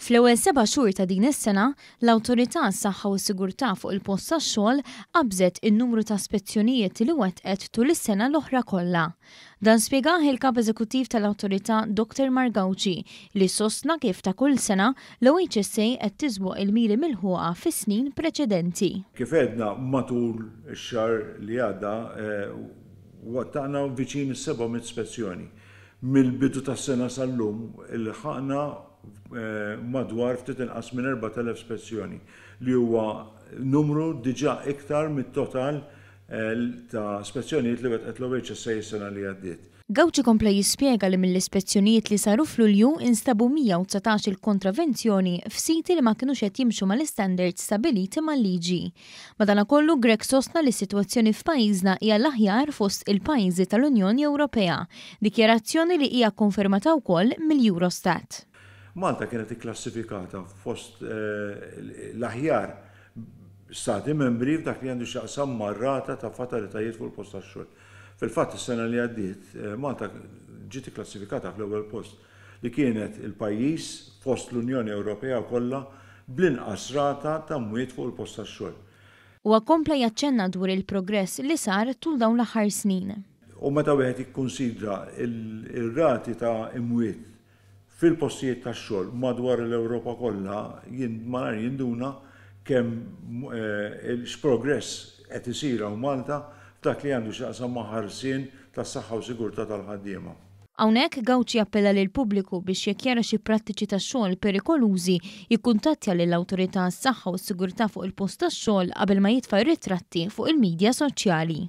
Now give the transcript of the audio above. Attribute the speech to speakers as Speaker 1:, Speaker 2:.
Speaker 1: Fl-ewwel seba' xhur ta' din is-sena, l-Awtorità għas-Saħħa u s-Sigurtà fuq il-Post tax-Xogħol qabżet in-numru ta' spezzjonijiet li wettqet tul is-sena l-oħra kollha. Dan spjegah il-Kap Eżekuttiv tal-Awtorità Dr Mark Gauci li sostna kif ta' kull sena l-OHSA qed tiżboq il-miri milħuqa fis-snin preċedenti.
Speaker 2: Kif għedna matul ix-xahar li għadda wettaqna viċin is-700 spezzjoni. Mill-bidu tas-sena sal-lum ilħaqna madwar ftit inqas minn 4,000 spezzjoni, li huwa numru diġà iktar mit-total ta' spezzjonijiet li wettqet l-OHSA s-sena li għaddiet.
Speaker 1: Gauci kompla jispjega li mill-ispezzjonijiet li saru f'Lulju instabu 119 il kontravenzjoni f'siti li ma kinux qed jimxu mal-istandards stabbiliti mal-liġi. Madanakollu Grech sostna li s-sitwazzjoni f'pajjiżna hija l-aħjar fost il-pajjiżi tal-Unjoni Ewropea, dikjarazzjoni li hija kkonfermata wkoll mill-Eurostat.
Speaker 2: Malta kienet ikklassifikata fost l-aħjar Stati Membri f'dak li għandu x'jaqsam mar-rata ta' fatalitajiet fuq il-post tax-xogħol. Fil-fatt is-sena li għaddiet Malta ġiet ikklassifikata fl-ewwel post li kienet il-pajjiż fost l-Unjoni Ewropea kollha bl-inqas rata ta' mwiet fuq il-post tax-xogħol.
Speaker 1: Huwa kompla jaċċenna dwar il-progress li sar tul dawn l-aħħar snin.
Speaker 2: U meta wieħed jikkunsidra r-rati ta' imwiet fil-postijiet tax-xogħol madwar l-Ewropa kollha, malajr jinduna kemm x'progress qed isir hawn Malta f'dak li għandu x'jaqsam ma' ħarsien tas-saħħa u sigurtà tal-ħaddiema.
Speaker 1: Hawnhekk Gauci appella lill-pubbliku biex jekk jara xi prattiċi ta' xogħol perikolużi jikkuntattja lill-Awtorità għas-Saħħa u s-Sigurtà fuq il-post tax-xogħol qabel ma jitfa' r-ritratti fuq il-midja soċjali.